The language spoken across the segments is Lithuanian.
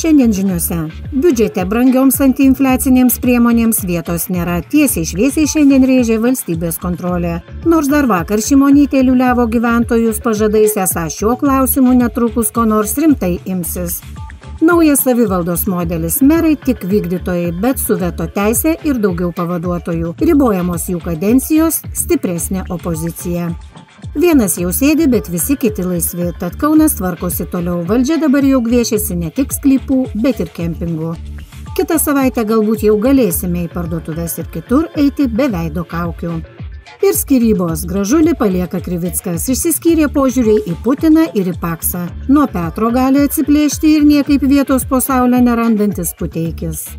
Šiandien žiniuose. Biudžete brangioms antiinfliacinėms priemonėms vietos nėra. Tiesiai šviesiai šiandien rėžė valstybės kontrolė. Nors dar vakar Šimonytė liuliavo gyventojus pažadais, esą šiuo klausimu netrukus ko nors rimtai imsis. Naujas savivaldos modelis. Merai tik vykdytojai, bet su veto teise ir daugiau pavaduotojų. Ribojamos jų kadencijos, stipresnė opozicija. Vienas jau sėdi, bet visi kiti laisvi, tad Kaunas tvarkosi toliau. Valdžia dabar jau gviešiasi ne tik sklypų, bet ir kempingų. Kitą savaitę galbūt jau galėsime į parduotuves ir kitur eiti be veido kaukių. Ir skyrybos. Gražulį palieka Krivickas. Išsiskyrė požiūriai į Putiną ir į Paksą. Nuo Petro gali atsiplėšti ir niekaip vietos po saulę nerandantis Puteikis.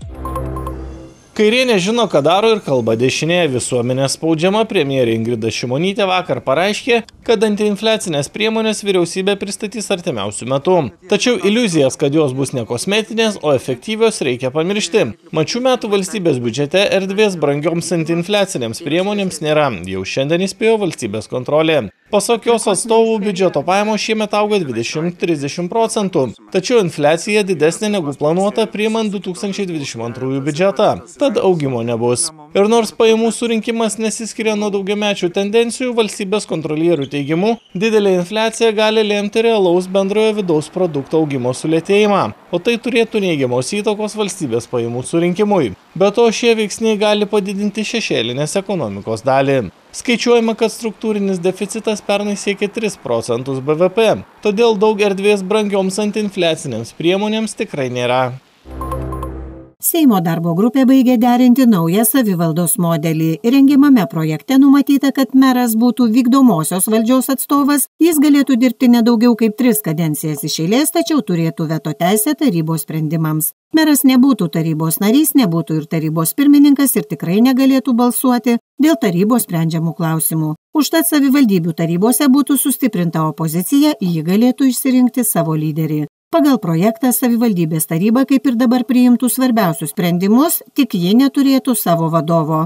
Kairė nežino, ką daro ir kalba dešinė. Visuomenė spaudžiama, premjerė Ingrida Šimonytė vakar pareiškė, kad antiinfliacinės priemonės vyriausybė pristatys artimiausių metų. Tačiau iliuzijas, kad jos bus ne kosmetinės, o efektyvios, reikia pamiršti. Mat šių metų valstybės biudžete erdvės brangioms antiinfliacinėms priemonėms nėra. Jau šiandien įspėjo valstybės kontrolė. Pasak jos atstovų, biudžeto pajamos šiemet auga 20–30 procentų. Tačiau infliacija didesnė negu planuota priimant 2022 biudžetą. Tad augimo nebus. Ir nors pajamų surinkimas nesiskiria nuo daugiamečių tendencijų, valstybės kontrolierių teigimu, didelė infliacija gali lemti realaus bendrojo vidaus produkto augimo sulėtėjimą, o tai turėtų neigiamos įtakos valstybės pajamų surinkimui. Be to, šie veiksniai gali padidinti šešėlinės ekonomikos dalį. Skaičiuojama, kad struktūrinis deficitas pernai siekė 3 procentus BVP, todėl daug erdvės brangioms antiinfliacinėms priemonėms tikrai nėra. Seimo darbo grupė baigė derinti naują savivaldos modelį. Rengiamame projekte numatyta, kad meras būtų vykdomosios valdžios atstovas, jis galėtų dirbti nedaugiau kaip 3 kadencijas iš eilės, tačiau turėtų veto teisę tarybos sprendimams. Meras nebūtų tarybos narys, nebūtų ir tarybos pirmininkas ir tikrai negalėtų balsuoti dėl tarybos sprendžiamų klausimų. Užtat savivaldybių tarybose būtų sustiprinta opozicija, ji galėtų išsirinkti savo lyderį. Pagal projektą savivaldybės taryba kaip ir dabar priimtų svarbiausius sprendimus, tik ji neturėtų savo vadovo.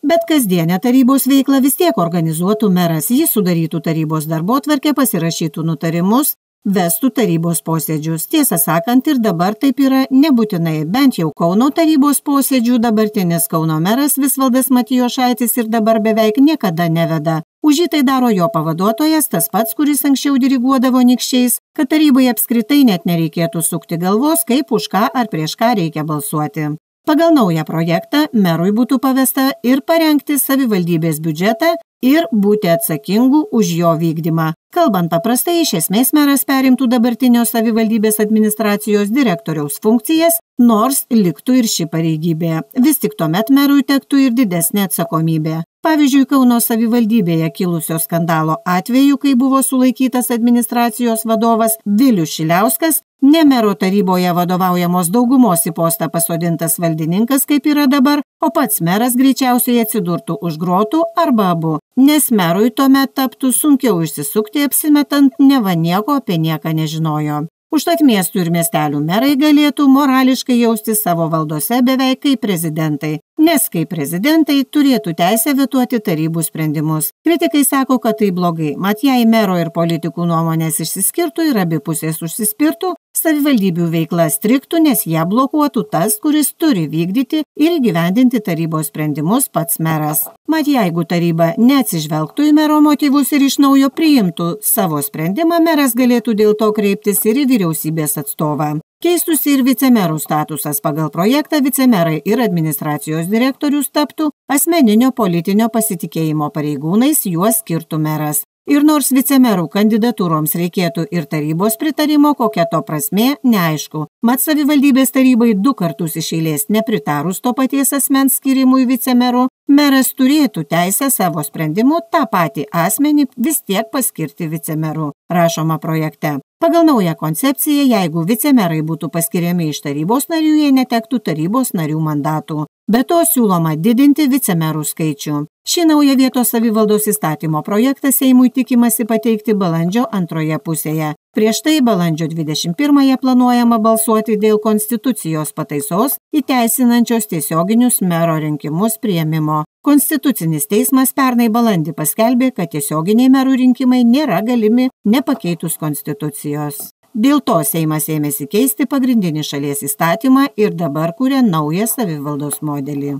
Bet kasdienę tarybos veiklą vis tiek organizuotų meras, jis sudarytų tarybos darbotvarkę, pasirašytų nutarimus, vestų tarybos posėdžius. Tiesą sakant, ir dabar taip yra nebūtinai, bent jau Kauno tarybos posėdžių dabartinis Kauno meras Visvaldas Matijošaitis ir dabar beveik niekada neveda. Už jį tai daro jo pavaduotojas, tas pats, kuris anksčiau diriguodavo nykščiais, kad tarybai apskritai net nereikėtų sukti galvos, kaip už ką ar prieš ką reikia balsuoti. Pagal naują projektą merui būtų pavesta ir parengti savivaldybės biudžetą ir būti atsakingu už jo vykdymą. Kalbant paprastai, iš esmės meras perimtų dabartinio savivaldybės administracijos direktoriaus funkcijas, nors liktų ir ši pareigybė. Vis tik tuomet merui tektų ir didesnė atsakomybė. Pavyzdžiui, Kauno savivaldybėje kilusio skandalo atveju, kai buvo sulaikytas administracijos vadovas Vilius Šiliauskas, ne mero taryboje vadovaujamos daugumos į postą pasodintas valdininkas, kaip yra dabar, o pats meras greičiausiai atsidurtų už grotų arba abu, nes merui tuomet taptų sunkiau išsisukti apsimetant neva nieko apie nieką nežinojo. Užtat miestų ir miestelių merai galėtų morališkai jausti savo valdose beveik kaip prezidentai, nes kaip prezidentai turėtų teisę vetuoti tarybų sprendimus. Kritikai sako, kad tai blogai, mat jei mero ir politikų nuomonės išsiskirtų ir abi pusės užsispirtų, savivaldybių veikla striktų, nes ją blokuotų tas, kuris turi vykdyti ir įgyvendinti tarybos sprendimus pats meras. Mat jeigu taryba neatsižvelgtų į mero motyvus ir iš naujo priimtų savo sprendimą, meras galėtų dėl to kreiptis ir į vyriausybės atstovą. Keistųsi ir vicemerų statusas. Pagal projektą vicemerai ir administracijos direktorius taptų asmeninio politinio pasitikėjimo pareigūnais, juos skirtų meras. Ir nors vicemerų kandidatūroms reikėtų ir tarybos pritarimo, kokia to prasmė, neaišku. Mat savivaldybės tarybai 2 kartus iš eilės nepritarus to paties asmens skirimui vicemeru, meras turėtų teisę savo sprendimu tą patį asmenį vis tiek paskirti vicemeru, rašoma projekte. Pagal naują koncepciją, jeigu vicemerai būtų paskiriami iš tarybos narių, jie netektų tarybos narių mandatų. Be to siūloma didinti vicemerų skaičių. Šį naują vietos savivaldos įstatymo projektą Seimui tikimasi pateikti balandžio antroje pusėje. Prieš tai balandžio 21-ąją planuojama balsuoti dėl konstitucijos pataisos įteisinančios tiesioginius mero rinkimus priėmimo. Konstitucinis teismas pernai balandį paskelbė, kad tiesioginiai merų rinkimai nėra galimi nepakeitus konstitucijos. Dėl to Seimas ėmėsi keisti pagrindinį šalies įstatymą ir dabar kuria naują savivaldos modelį.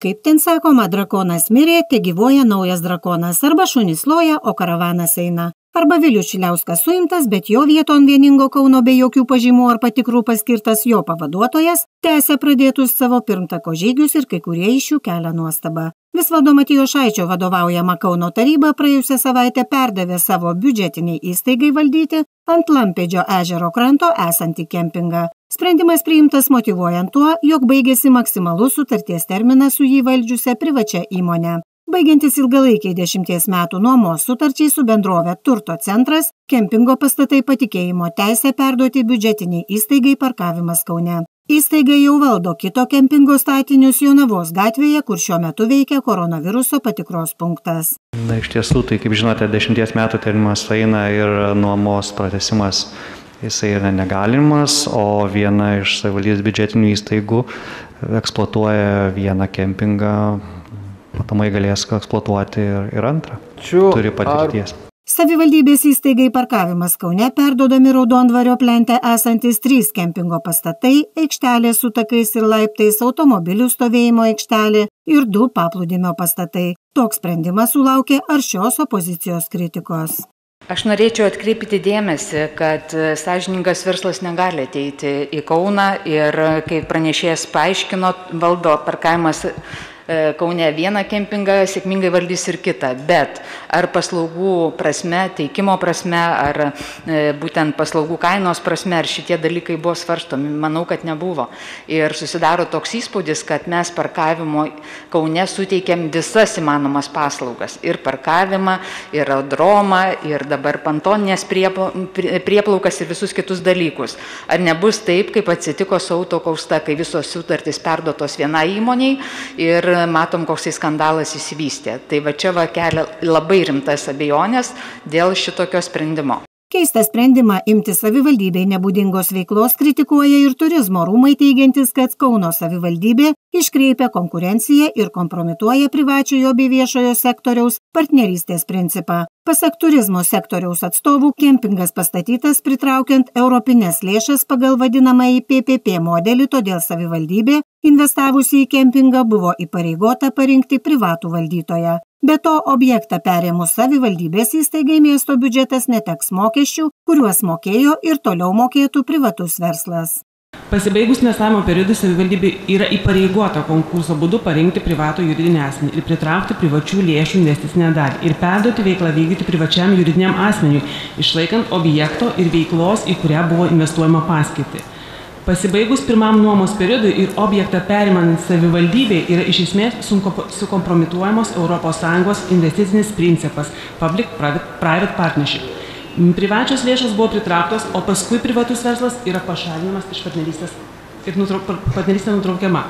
Kaip ten sakoma, drakonas mirė, te gyvoja naujas drakonas, arba šunys loja, o karavanas eina. Arba Vilius Šiliauskas suimtas, bet jo vieton Vieningo Kauno be jokių pažymų ar patikrų paskirtas jo pavaduotojas, tęsia pradėtus savo pirmtako žygius ir kai kurie iš jų kelia nuostabą. Visvaldo Matijošaičio vadovaujama Kauno taryba praėjusią savaitę perdavė savo biudžetiniai įstaigai valdyti ant Lampėdžio ežero kranto esantį kempingą. Sprendimas priimtas motyvuojant tuo, jog baigėsi maksimalus sutarties terminas su jį valdžiusia privačia įmonė. Baigiantis ilgalaikiai 10 metų nuomos sutarčiai su bendrove Turto centras, kempingo pastatai patikėjimo teisę perduoti biudžetiniai įstaigai Parkavimas Kaune. Įstaiga jau valdo kito kempingo statinius Jonavos gatvėje, kur šiuo metu veikia koronaviruso patikros punktas. Iš tiesų, tai kaip žinote, 10 metų terminas eina ir nuomos pratęsimas jisai yra negalimas, o viena iš savivaldybės biudžetinių įstaigų eksploatuoja vieną kempingą, matomai galės eksploatuoti ir antrą. Turi patirties. Savivaldybės įstaigai Parkavimas Kaune perduodami Raudondvario plente esantis 3 kempingo pastatai, aikštelė su takais ir laiptais, automobilių stovėjimo aikštelė ir 2 paplūdimio pastatai. Toks sprendimas sulaukė aršios opozicijos kritikos. Aš norėčiau atkreipti dėmesį, kad sąžiningas verslas negali ateiti į Kauną ir, kaip pranešėjas paaiškino, valdo Parkavimas Kaune vieną kempingą, sėkmingai valdys ir kitą, bet ar paslaugų prasme, teikimo prasme, ar būtent paslaugų kainos prasme, ar šitie dalykai buvo svarstomi, manau, kad nebuvo. Ir susidaro toks įspūdis, kad mes parkavimo Kaune suteikėm visas įmanomas paslaugas. Ir parkavimą, ir aerodromą, ir dabar pontoninės prieplaukas ir visus kitus dalykus. Ar nebus taip, kaip atsitiko su Autokausta, kai visos sutartys perduotos vienai įmoniai ir matom, koksai skandalas įsivystė. Tai va čia kelia labai rimtas abejonės dėl šitokio sprendimo. Keistą sprendimą imti savivaldybei nebūdingos veiklos kritikuoja ir turizmo rūmai, teigiantis, kad Kauno savivaldybė iškreipia konkurenciją ir kompromituoja privačiojo bei viešojo sektoriaus partnerystės principą. Pasak turizmo sektoriaus atstovų, kempingas pastatytas pritraukiant europinės lėšas pagal vadinamąjį PPP modelį, todėl savivaldybė, investavusi į kempingą, buvo įpareigota parinkti privatų valdytoją. Be to, objektą perėmus savivaldybės įstaigai miesto biudžetas neteks mokesčių, kuriuos mokėjo ir toliau mokėtų privatus verslas. Pasibaigus investavimo periodui savivaldybė yra įpareigota konkurso būdu parinkti privatų juridinį asmenį ir pritraukti privačių lėšų investicinę dalį ir perduoti veiklą vykdyti privačiam juridiniam asmeniui, išlaikant objekto ir veiklos, į kurią buvo investuojama paskirtį. Pasibaigus pirmam nuomos periodui ir objektą perimant savivaldybei yra iš esmės sukompromituojamos ES investicinis principas Public-Private Partnership. Privačios lėšos buvo pritrauktos, o paskui privatus verslas yra pašalinamas iš partnerystės ir partnerystė nutraukiama.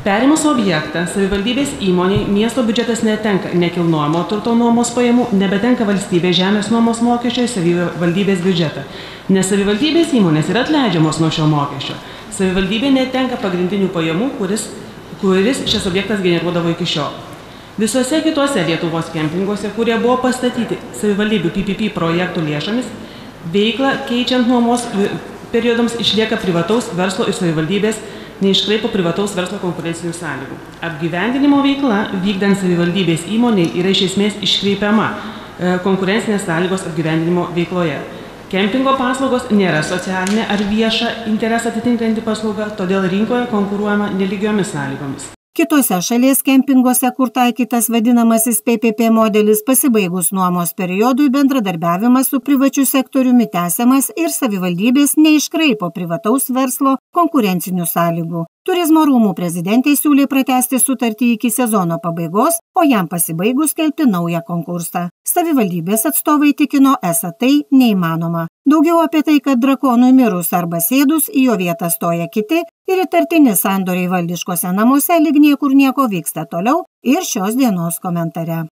Perimus objektą savivaldybės įmoniai miesto biudžetas netenka nekilnojamo turto nuomos pajamų, nebetenka valstybės žemės nuomos mokesčio į savivaldybės biudžetą. Nes savivaldybės įmonės yra atleidžiamos nuo šio mokesčio. Savivaldybė netenka pagrindinių pajamų, kuris šis objektas generuodavo iki šiol. Visuose kitose Lietuvos kempinguose, kurie buvo pastatyti savivaldybių PPP projektų lėšomis, veiklą keičiant nuomos periodams išlieka privataus verslo ir savivaldybės neiškraipo privataus verslo konkurencinių sąlygų. Apgyvendinimo veikla vykdant savivaldybės įmoniai yra iš esmės iškreipiama konkurencinės sąlygos apgyvendinimo veikloje. Kempingo paslaugos nėra socialinė ar vieša interesą atitinkanti paslauga, todėl rinkoje konkuruojama nelygiomis sąlygomis. Kitose šalies kempinguose, kur taikytas vadinamasis PPP modelis, pasibaigus nuomos periodui bendradarbiavimas su privačiu sektoriumi tęsiamas ir savivaldybės neiškraipo privataus verslo konkurencinių sąlygų. Turizmo rūmų prezidentė siūlė pratęsti sutartį iki sezono pabaigos, o jam pasibaigus skelbti naują konkursą. Savivaldybės atstovai tikino, esą tai neįmanoma. Daugiau apie tai, kad drakonui mirus arba sėdus, į jo vietą stoja kiti ir įtartini sandoriai valdiškose namuose lyg niekur nieko vyksta toliau ir šios dienos komentare.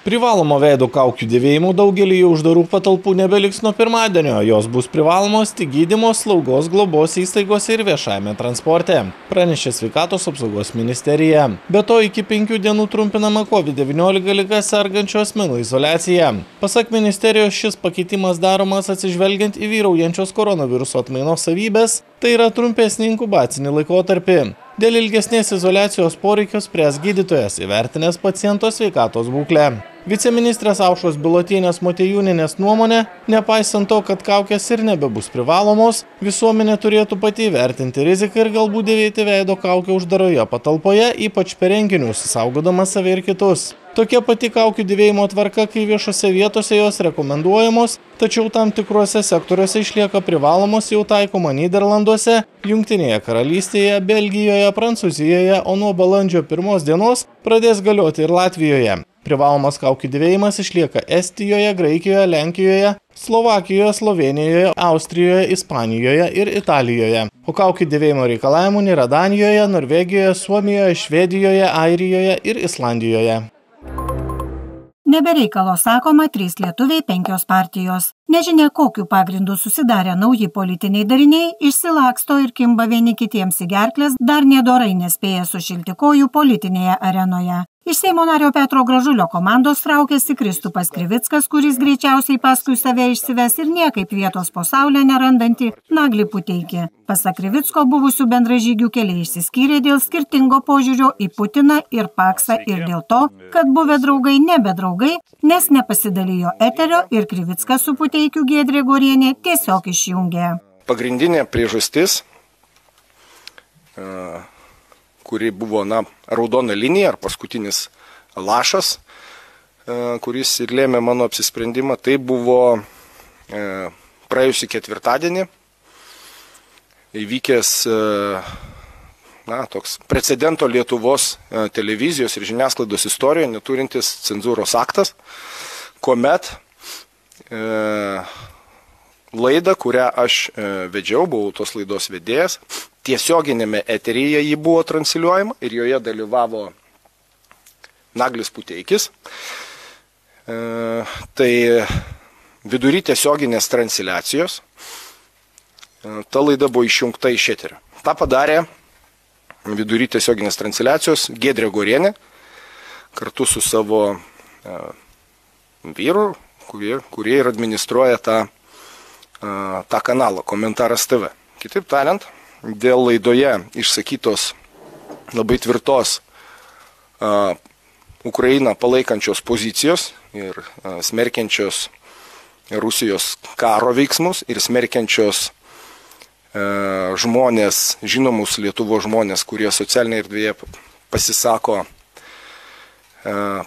Privalomo veido kaukių dėvėjimų daugelį uždarų patalpų nebeliks nuo pirmadienio. Jos bus privalomos tik gydymo, slaugos, globos įstaigose ir viešajame transporte, pranešė Sveikatos apsaugos ministerija. Be to, iki 5 dienų trumpinama COVID-19 liga sergančių asmenų izoliacija. Pasak ministerijos, šis pakeitimas daromas atsižvelgiant į vyraujančios koronaviruso atmainos savybės, tai yra trumpesnį inkubacinį laikotarpį. Dėl ilgesnės izoliacijos poreikios spręs gydytojas, įvertinęs paciento sveikatos būklę. Viceministrės Aušros Bilotienės Motiejūnienės nuomonė, nepaisant to, kad kaukės ir nebebus privalomos, visuomenė turėtų pati įvertinti riziką ir galbūt dėvėti veido kaukę uždaroje patalpoje, ypač per renginius, saugodama save ir kitus. Tokia pati kaukių dėvėjimo tvarka, kai viešose vietose jos rekomenduojamos, tačiau tam tikruose sektoriuose išlieka privalomos, jau taikoma Nyderlanduose, Jungtinėje karalystėje, Belgijoje, Prancūzijoje, o nuo balandžio 1 dienos pradės galioti ir Latvijoje. Privalomas kaukių dėvėjimas išlieka Estijoje, Graikijoje, Lenkijoje, Slovakijoje, Slovėnijoje, Austrijoje, Ispanijoje ir Italijoje. O kaukių dėvėjimo reikalavimų nėra Danijoje, Norvegijoje, Suomijoje, Švedijoje, Airijoje ir Islandijoje. Nebereikalo sakoma 3 lietuviai 5 partijos. Nežinia, kokiu pagrindu susidarę nauji politiniai dariniai, išsilaksto ir kimba vieni kitiems į gerkles, dar nedorai nespėja sušilti kojų politinėje arenoje. Iš Seimo nario Petro Gražulio komandos traukėsi Kristupas Krivickas, kuris greičiausiai paskui save išsives ir niekaip vietos po saulę nerandantį Naglį Puteikį. Pasak Krivicko, buvusių bendražygių keliai išsiskyrė dėl skirtingo požiūrio į Putiną ir Paksą ir dėl to, kad buvę draugai nebe draugai, nes nepasidalijo eterio ir Krivickas su Puteikiu Giedrė Gorienė tiesiog išjungė. Pagrindinė priežastis, kuri buvo raudona linija ar paskutinis lašas, kuris ir lėmė mano apsisprendimą, tai buvo praėjusį ketvirtadienį įvykęs toks precedento Lietuvos televizijos ir žiniasklaidos istorijoje neturintis cenzūros aktas, kuomet laidą, kurią aš vedžiau, buvau tos laidos vedėjas, tiesioginėme eteryje jį buvo transliuojama ir joje dalyvavo Naglis Puteikis. Tai vidury tiesioginės transliacijos ta laida buvo išjungta iš eterio. Ta padarė vidury tiesioginės transliacijos Giedrė Gorienė kartu su savo vyru, kurie ir administruoja tą kanalą Komentaras TV. Kitaip tariant, dėl laidoje išsakytos labai tvirtos Ukrainą palaikančios pozicijos ir smerkiančios Rusijos karo veiksmus ir smerkiančios žmonės, žinomus Lietuvos žmonės, kurie socialinėje erdvėje pasisako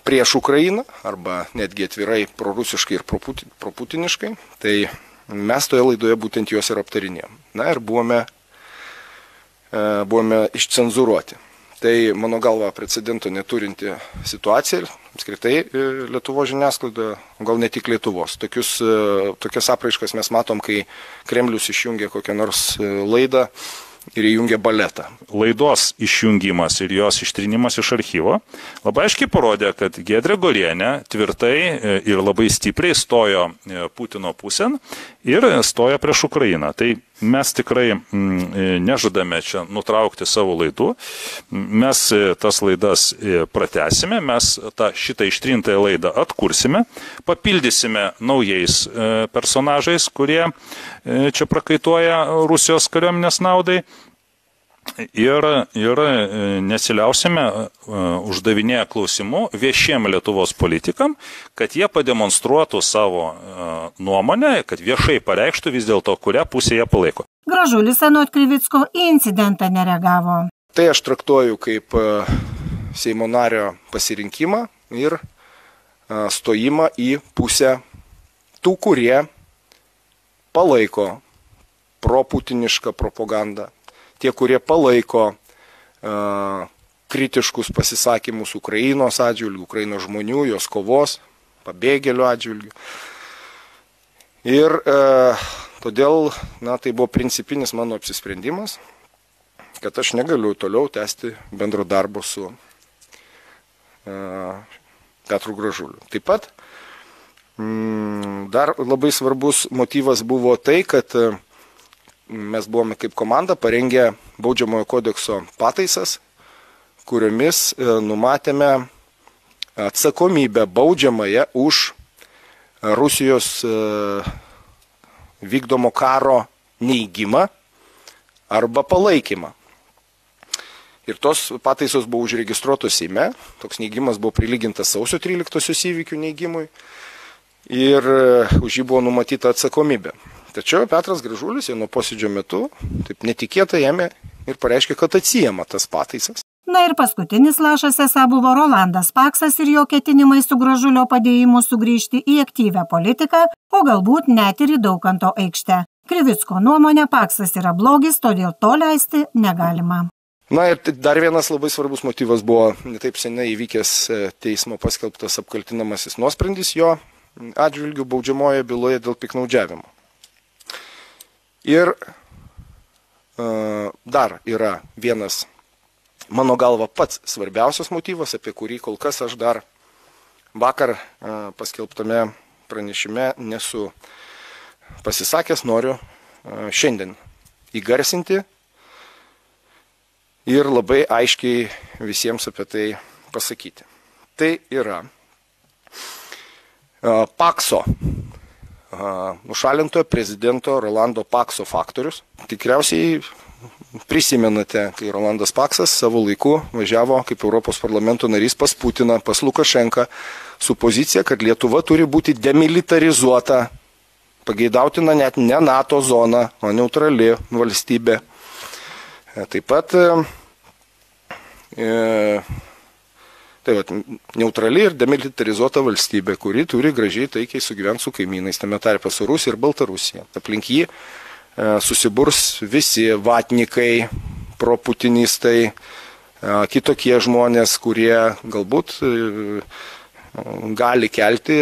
prieš Ukrainą arba netgi atvirai prorusiškai ir proputiniškai, tai mes toje laidoje būtent juos ir aptarinėjom. Na ir buvome išcenzuruoti. Tai, mano galva, precedento neturinti situacija ir apskritai Lietuvos žiniasklaidoje, gal ne tik Lietuvos. Tokias apraiškas mes matom, kai Kremlius išjungia kokią nors laidą ir įjungia baletą. Laidos išjungimas ir jos ištrinimas iš archyvo labai aiškiai parodė, kad Giedrė Gorienė tvirtai ir labai stipriai stojo Putino pusėn ir stojo prieš Ukrainą. Tai mes tikrai nežadame čia nutraukti savo laidų. Mes tas laidas pratęsime, mes šitą ištrintąją laidą atkursime, papildysime naujais personažais, kurie čia prakaituoja Rusijos kariuomenės naudai. Ir nesiliausime uždavinėję klausimų viešiem Lietuvos politikam, kad jie pademonstruotų savo nuomonę, kad viešai pareikštų vis dėlto, kurią pusę jie palaiko. Gražulis anot Krivicko į incidentą nereagavo. Tai aš traktuoju kaip Seimo nario pasirinkimą ir stojimą į pusę tų, kurie palaiko proputinišką propagandą. Tie, kurie palaiko kritiškus pasisakymus Ukrainos atžvilgių, Ukrainos žmonių, jos kovos, pabėgėlių atžvilgių. Ir todėl, tai buvo principinis mano apsisprendimas, kad aš negaliu toliau tęsti bendro darbo su Petru Gražuliu. Taip pat dar labai svarbus motyvas buvo tai, kad mes buvome kaip komanda parengę Baudžiamojo kodekso pataisas, kuriomis numatėme atsakomybę baudžiamąją už Rusijos vykdomo karo neigimą arba palaikymą. Ir tos pataisos buvo užregistruotos Seime, toks neigimas buvo prilygintas sausio 13-osios įvykių neigimui ir už jį buvo numatyta atsakomybė. Tačiau Petras Gražulis jau nuo posėdžio metu taip netikėtai ėmė ir pareiškė, kad atsijama tas pataisas. Na ir paskutinis lašas esą buvo Rolandas Paksas ir jo ketinimai su Gražulio padėjimu sugrįžti į aktyvią politiką, o galbūt net ir į Daukanto aikštę. Krivicko nuomonė, Paksas yra blogis, todėl to leisti negalima. Na ir dar vienas labai svarbus motyvas buvo netaip seniai įvykęs teismo paskelbtas apkaltinamasis nuosprendis jo atžvilgių baudžiamoje byloje dėl piktnaudžiavimo. Ir dar yra vienas, mano galva, pats svarbiausias motyvas, apie kurį kol kas aš dar vakar paskelbtame pranešime nesu pasisakęs, noriu šiandien įgarsinti ir labai aiškiai visiems apie tai pasakyti. Tai yra Pakso, nušalintojo prezidento Rolando Pakso faktorius. Tikriausiai prisimenate, kai Rolandas Paksas savo laiku važiavo kaip Europos parlamento narys pas Putiną, pas Lukašenką, su pozicija, kad Lietuva turi būti demilitarizuota, pageidautina net ne NATO zona, o neutrali valstybė. Taip pat neutrali ir demilitarizuota valstybė, kuri turi gražiai taikiai sugyventi su kaimynais, tame tarpe su Rusija ir Baltarusija. Aplink jį susiburs visi vatnikai, proputinistai, kitokie žmonės, kurie galbūt gali kelti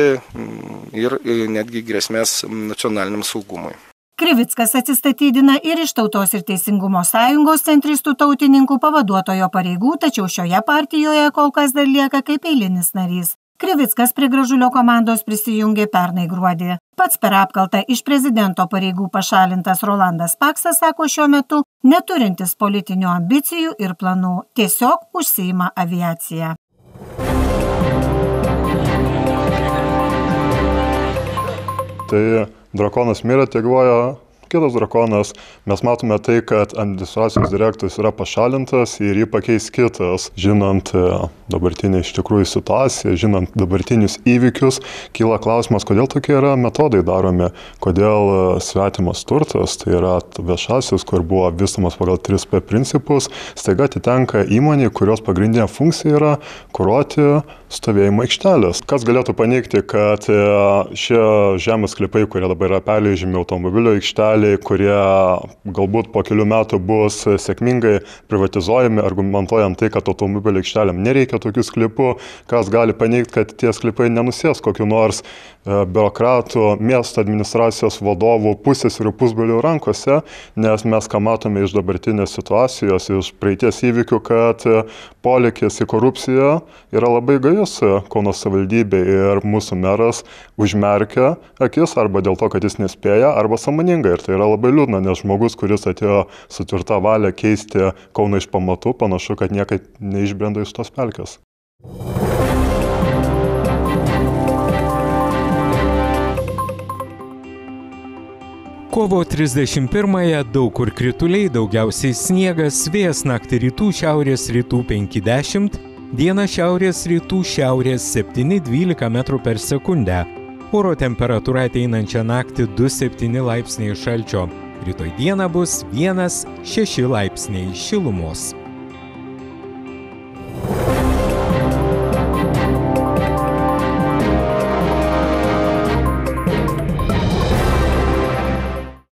ir netgi grėsmės nacionaliniam saugumui. Krivickas atsistatydina ir iš Tautos ir Teisingumo sąjungos centristų tautininkų pavaduotojo pareigų, tačiau šioje partijoje kol kas dar lieka kaip eilinis narys. Krivickas prie Gražulio komandos prisijungė pernai gruodį. Pats per apkaltą iš prezidento pareigų pašalintas Rolandas Paksas sako šiuo metu neturintis politinių ambicijų ir planų, tiesiog užsiima aviaciją. Tai drakonas mirė, tegyvuoja kitas drakonas. Mes matome tai, kad administracijos direktorius yra pašalintas ir jį pakeis kitas. Žinant dabartinę iš tikrųjų situaciją, žinant dabartinius įvykius, kyla klausimas, kodėl tokie yra metodai daromi, kodėl svetimas turtas, tai yra viešasis, kur buvo vystomas pagal 3P principus, staiga atitenka įmonei, kurios pagrindinė funkcija yra kuruoti stovėjimo aikštelės. Kas galėtų paneigti, kad šie žemės sklypai, kurie dabar yra perleidžiami automobilio aikšteliai, kurie galbūt po kelių metų bus sėkmingai privatizuojami, argumentuojant tai, kad automobilio aikštelėm nereikia tokių sklypų, kas gali paneigti, kad tie sklypai nenusės kokiu nors biurokratų, miesto administracijos vadovų pusės ir pusbrolių rankose, nes mes ką matome iš dabartinės situacijos, iš praeities įvykių, kad polėkis į korupciją yra labai gajus Kauno savivaldybė ir mūsų meras užmerkia akis arba dėl to, kad jis nespėja, arba sąmoningai. Ir tai yra labai liūdna, nes žmogus, kuris atėjo su tvirta valia keisti Kauną iš pamatų, panašu, kad niekad neišbrenda iš tos pelkės. Kovo 31-ąją daug kur krituliai, daugiausiai sniegas, vėjas naktį rytų šiaurės rytų 5-10, dieną šiaurės rytų šiaurės 7-12 m/s. Oro temperatūra ateinančią naktį 2-7 laipsniai šalčio. Rytoj dieną bus 1-6 laipsniai šilumos.